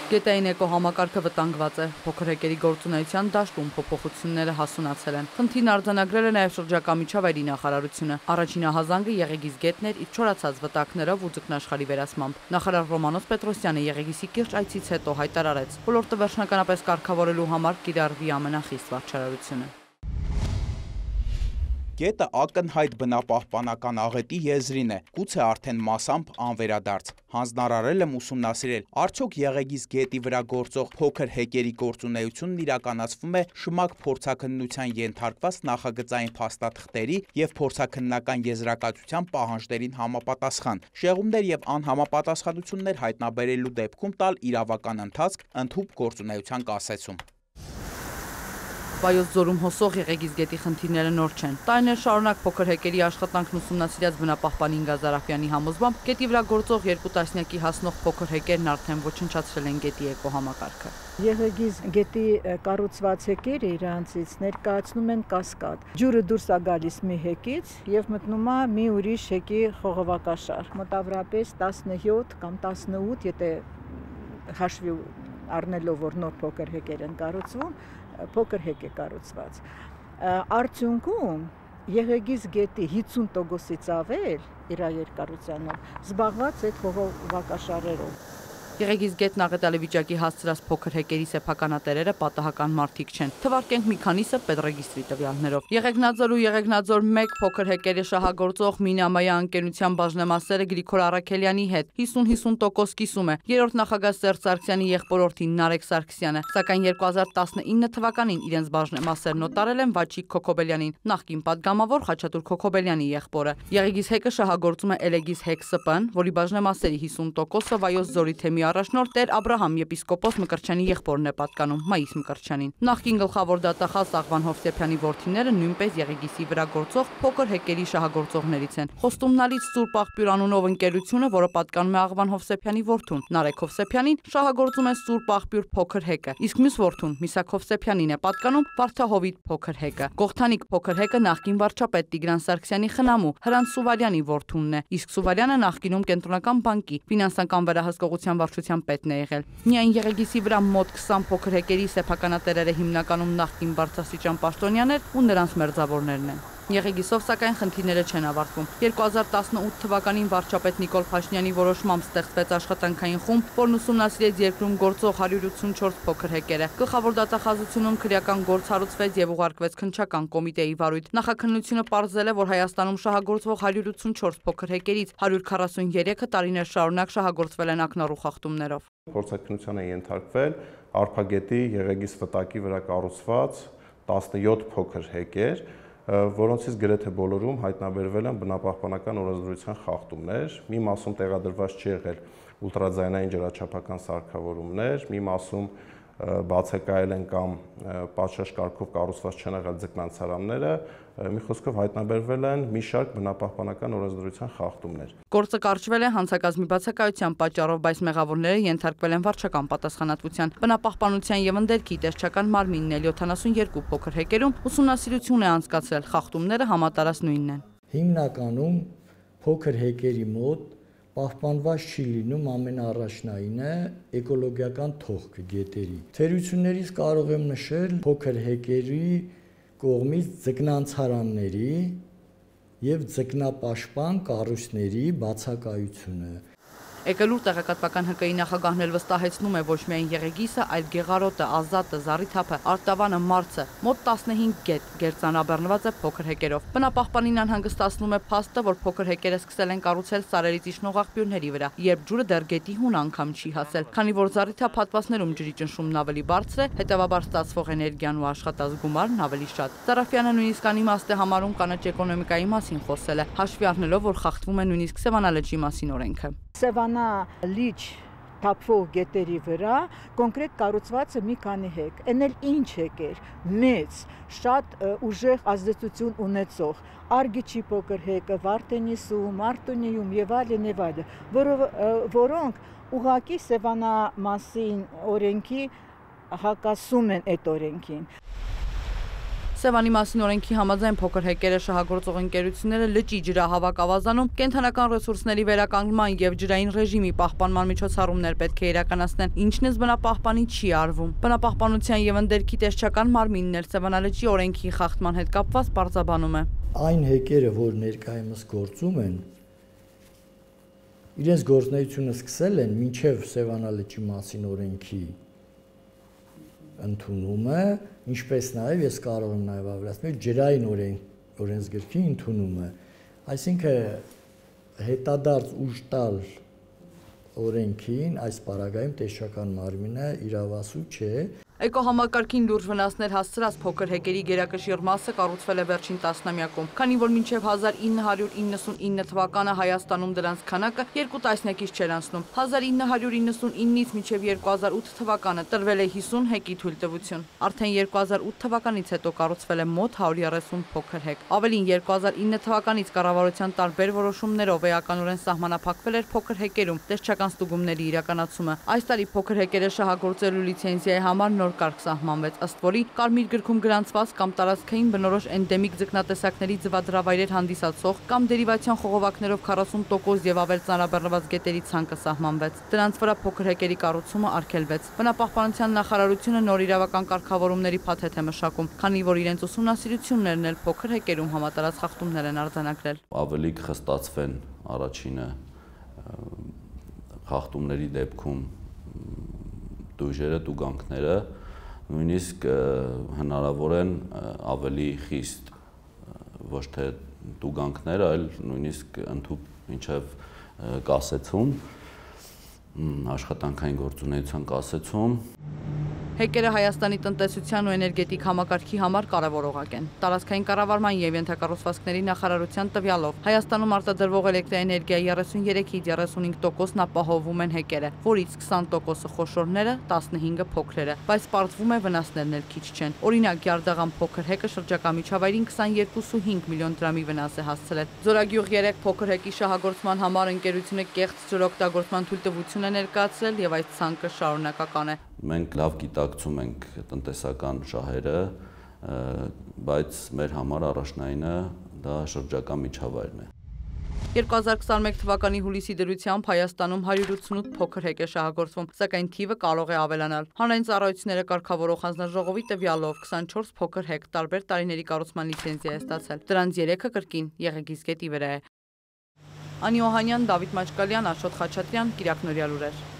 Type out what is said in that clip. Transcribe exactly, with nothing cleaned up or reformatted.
Գետային էկոհամակարգը վտանգված է, փոքր հեկերի գործունեության դաշտում փոփոխությունները հասունացել են։ Խնդիրն արձանագրել է նաև շրջակա միջավայրի նախարարությունը։ Առաջին ահազանգը Եղեգիս գետն էր իր չորացած վտակներով ու ձկնաշխարհի վերացմամբ։ Նախարար Ռոմանոս Պետրոսյանը Եղեգիսի կիրճ այցից հետո հայտարարեց, ոլորտը վերջնականապես կարգավորելու համար կիրառվի ամենախիստ վարչարարությունը։ Գետը ակնհայտ բնապահպանական աղետի եզրին է, գուցե արդեն մասամբ անվերադարձ։ Հանձնարարել եմ ուսումնասիրել, արդյոք Եղեգիս գետի վրա գործող փոքր հեկերի գործունեությունն իրականացվում է շմակ փորձաքննության ենթարկված նախագծային փաստաթղթերի և փորձաքննական եզրակացության պահանջներին համապատասխան, շեղումներ և անհամապատասխանություններ հայտնաբերելու դեպքում տալ իրավական ընթացք ընդհուպ գործունեության կասեցում։ Վայոց ձորում հոսող Եղեգիս գետի խնդիրները նոր չեն։ Տարիներ շարունակ փոքր հեկերի աշխատանքն ուսումնասիրած բնապահպան Ինգա Զարաֆյանի համոզմամբ գետի վրա գործող երկու տասնյակի հասնող փոքր հեկերն արդեն ոչնչացրել են գետի էկոհամակարգը։ Եղեգիս գետի կառուցված հեկերը իրանցից ներկայացնում են կասկադ։ Ջուրը դուրս է գալիս մի հեկից եւ մտնում է մի ուրիշ հեկի խողովակաշար։ Մոտավորապես տասնհյոթ կամ տասնութ, եթե հաշվի առնելով որ նոր փոքր հեկեր են կառուցվում, փոքր հեկ է կառուցված։ Արդյունքում Եղեգիս գետի հիսուն տոկոսից ավել իր երկարությանով զբաղված է խողովակաշարերով։ Եղեգիս գետն աղետալի վիճակի հասցրած փոքր հեկերի սեփականատերերը պատահական մարդիկ չեն։ Թվարկենք մի քանիսը պետռեգիստրի տվյալներով։ Եղեգնաձոր ու Եղեգնաձոր մեկ փոքր հեկերի շահագործող Մինամայա ընկերության բաժնեմասերը Գրիգոր Առաքելյանի հետ հիսուն-հիսուն տոկոս կիսում է։ Երրորդ նախագահ Սերժ Սարգսյանի եղբորորդին Նարեկ Սարգսյանը, սակայն երկու հազար տասնինը թվականին իրենց բաժնեմասերն օտարել են Վաչիկ Քոքոբելյանին, նախկին падգամավոր Խաչատուր Քոքոբելյանի եղբորը։ Եղեգիս հեկը շահագործում է Էլեգիս հեկ ՍՊ-ն, որի բաժնեմասերի հիսուն տոկոսը Վայոց ձորի թեմի առաջնորդ Տեր Աբրահամ եպիսկոպոս Մկրտչյանի եղբորն է պատկանում, Մայիս Մկրտչյանին։ Նախկին գլխավոր դատախազ Աղվան Հովսեփյանի որդիները նույնպես Եղեգիսի վրա գործող փոքր հեկերի շահագործողներից են։ Խոստումնալից Սուրբ Աղբյուր անունով ընկերությունը, որը պատկանում է Աղվան Հովսեփյանի որդուն Նարեկ Հովսեփյանին, շահագործում է Սուրբ Աղբյուր փոքր հեկը, իսկ մյուս որդուն Միսակ Հովսեփյանին է պատկանում Վարդահովիտ փոքր հեկը։ Գողթանիկ փոքր հեկը նախկին վարչապետ Տիգրան Սարգսյանի խնամու Հրանտ Սուվարյանի որդունն է, իսկ Սուվարյանը նախկինում Կենտրոնական բանկի ֆինանսական վերահսկողության վարչության պետն է եղել։ Միայն Եղեգիսի վրա մոտ քսան փոքր հեկերի սեփականատերերը հիմնականում նախկին բարձրաստիճան պաշտոնյաներ ու նրանց մերձավորներն են։ Եղեգիսով սակայն խնդիրները չեն ավարտվում։ երկու հազար տասնութ թվականին վարչապետ Նիկոլ Փաշինյանի որոշմամբ ստեղծվեց աշխատանքային խումբ, որն ուսումնասիրեց երկրում գործող հարյուր ութսունչորս փոքր հեկերը։ Գլխավոր դատախազությունում քրեական գործ հարուցվեց եւ ուղարկվեց քննչական կոմիտեի վարույթ։ Նախաքննությունը պարզել է, որ Հայաստանում շահագործվող հարյուր ութսունչորս փոքր հեկերից հարյուր քառասուներեքը տարիներ շարունակ շահագործվել են ակնառու խախտումներով։ Փորձաքննության է ենթարկվել Արփագետի Եղեգիս վտակի վրա կառուցված տասնյոթ փոքր հեկեր, որոնցից գրեթե բոլորում հայտնաբերվել են բնապահպանական օրենսդրության խախտումներ, մի մասում տեղադրված չի եղել ուլտրաձայնային ջրաչափական սարքավորումներ, մի մասում բացակայել են կամ պատշաճ կարգով կառուցված չեն եղել ձկնանցարանները, մի խոսքով հայտնաբերվել են մի շարք բնապահպանական օրենսդրության խախտումներ։ Գործը կարճվել է հանցակազմի բացակայության պատճառով, բայց մեղավորները ենթարկվել են վարչական պատասխանատվության։ Բնապահպանության եւ ընդերքի տեսչական մարմինն էլ յոթանասունյոթ փոքր հեկերում ուսումնասիրություն է անցկացրել, խախտումները համատարած նույնն են։ Հիմնականում փոքր հեկերի մոտ պահպանված չի լինում ամենաառաջնայինը էկոլոգիական թողքը գետերի։ Թերություններից կարող եմ նշել փոքր հեկերի կողմից ձկնանցարանների եւ ձկնապաշտպան կառույցների բացակայությունը։ Էկելուր տեղեկատվական ՀԿ-ի նախագահն էլ վստահեցնում է ոչ միայն Եղեգիսը, այլ Գեղարոտը, Ազատը, Զառիթափը, Արտավանը, Մարցը, մոտ տասնհինգ գետ գերծանրաբեռնված է փոքր հեկերով։ Բնապահպանին անհանգստացնում է փաստը, որ փոքր հեկերը սկսել են կառուցել սարերից իջնող աղբյուրների վրա, երբ ջուրը դեռ գետի հուն անգամ չի հասել, քանի որ Զառիթափ հատվածներում ջրի ճնշումն ավելի բարձր է, հետևաբար ստացվող էներգիան ու աշխատած գումարն ավելի շատ։ Զարաֆյանը նույնիսկ անիմաստ է համարում կանաչ էկոնոմիկայի մասին խոսել է, հաշվի առնելով, որ խախտվում է նույնիսկ Սևանա լճի մասին օրենքը։ Սևանա լիճ թափվող գետերի վրա կոնկրետ կառուցված է մի քանի հեկ։ Էն էլ ինչ հեկ էր, մեծ, շատ ուժեղ ազդեցություն ունեցող, Արգիչի փոքր հեկը, Վարդենիսում, Արտունիում եւ այլն եւ այլն, որոնք ուղղակի Սևանա մասին օրենքի հակասում են այդ օրենքին։ Սևանի մասին օրենքի համաձայն փոքր հեկերը շահագործող ընկերությունները լճի ջրահավաք ավազանում, կենդանական ռեսուրսների վերականգնման եւ ջրային ռեժիմի պահպանման միջոցառումներ պետք է իրականացնեն, ինչն ըստ բնապահպանի չի արվում։ Բնապահպանության եւ ընդերքի տեսչական մարմինն էլ Սևանալճի օրենքի խախտման հետ կապված պարզաբանում է։ Այն հեկերը, որ ներկայումս գործում են, իրենց գործունեությունը սկսել են մինչև Սևանալճի մասին օրենքի ընդունումը, ինչպես նաև ես կարող եմ նաև ավելացնել ջրային օրենսգրքի ընդունումը, այսինքն հետադարձ ուժ տալ օրենքին այս պարագայում տեսչական մարմինը իրավասու չէ։ Էկոհամակարգին լուրջ վնասներ հասցրած փոքր հեկերի գերակշիռ մասը կառուցվել է վերջին տասնամյակում, քանի որ մինչև հազար ինը հարյուր իննսունինը թվականը Հայաստանում դրանց քանակը երկու տասնյակից չէր անցնում։ հազար ինը հարյուր իննսունինից մինչև երկու հազար ութ թվականը տրվել է հիսուն հեկի թույլտվություն։ Արդեն երկու հազար ութ թվականից հետո կառուցվել է մոտ հարյուր երեսուն փոքր հեկ։ Ավելին երկու հազար ինը թվականից կառավարության տարբեր որոշումներով էականորեն սահմանափակվել էր փոքր հեկերում տեսչական ստուգումների իրականացումը։ Այս տարի փոքր հեկերը շահագործելու լիցենզիայի համար նոր կարգ սահմանվեց, ըստ որի կարմիր գրքում գրանցված կամ տարածքային բնորոշ էնդեմիկ ձկնատեսակների ձվադրավայրեր հանդիսացող կամ դերիվացիոն խողովակներով քառասուն տոկոս եւ ավել ծանրաբեռնված գետերի ցանկը սահմանվեց։ Դրանց վրա փոքր հեկերի կառուցումը արգելվեց։ Բնապահպանության նախարարությունը նոր իրավական կարգավորումների փաթեթ է մշակում, քանի որ իրենց ուսումնասիրություններն էլ փոքր հեկերում համատարած խախտումներ են արձանագրել։ Ավելի կխստացվեն առաջինը խախտումների դեպքում դույժերը, տուգանքները, նույնիսկ հնարավոր են ավելի խիստ ոչ թե տուգանքներ, այլ նույնիսկ ընդհուպ մինչև կասեցում, աշխատանքային գործունեության կասեցում։ Հեկերը Հայաստանի տնտեսության ու էներգետիկ համակարգի համար կարևորողակ են։ Տարածքային կառավարման եւ ենթակառուցվածքների նախարարության տվյալով Հայաստանում արտադրվող էլեկտրաէներգիայի երեսուն երեքից երեսունհինգ տոկոսն ապահովում են հեկերը, որից քսան տոկոսը խոշորները, տասնհինգը փոքրերը, բայց պարզվում է վնասներն էլ քիչ չեն։ Օրինակ, Գյարդաղան փոքր հեկը շրջակա միջավայրին քսաներկու կόμμα հինգ միլիոն դրամի վնաս է հասցրել։ Ձորագյուղ երեք փոքր հեկի շահագործման համար ընկերությունը կեղծ ջրօգտագործման թույլտվություն է ներկայացրել եւ այս ցանկը շարունակական է։ Մենք լավ գիտակցում ենք տնտեսական շահերը, բայց մեր համար առաջնայինը դա շրջակա միջավայրն է։ երկու հազար քսաներկու թվականի հուլիսի դրությամբ Հայաստանում հարյուր ութսունութ փոքր հեկ է շահագործվում, սակայն թիվը կարող է ավելանալ։ Հանրային ծառայությունները կարգավորող հանձնաժողովի տվյալով քսանչորս փոքր հեկ տարբեր տարիների կառուցման լիցենզիա է ստացել։ Դրանց երեքը կրկին Եղեգիս գետի վրա է։ Անի Օհանյան, Դավիթ Մաչկալյան, Աշոտ Խաչատրյան, Կիրակնորյալ լուրեր։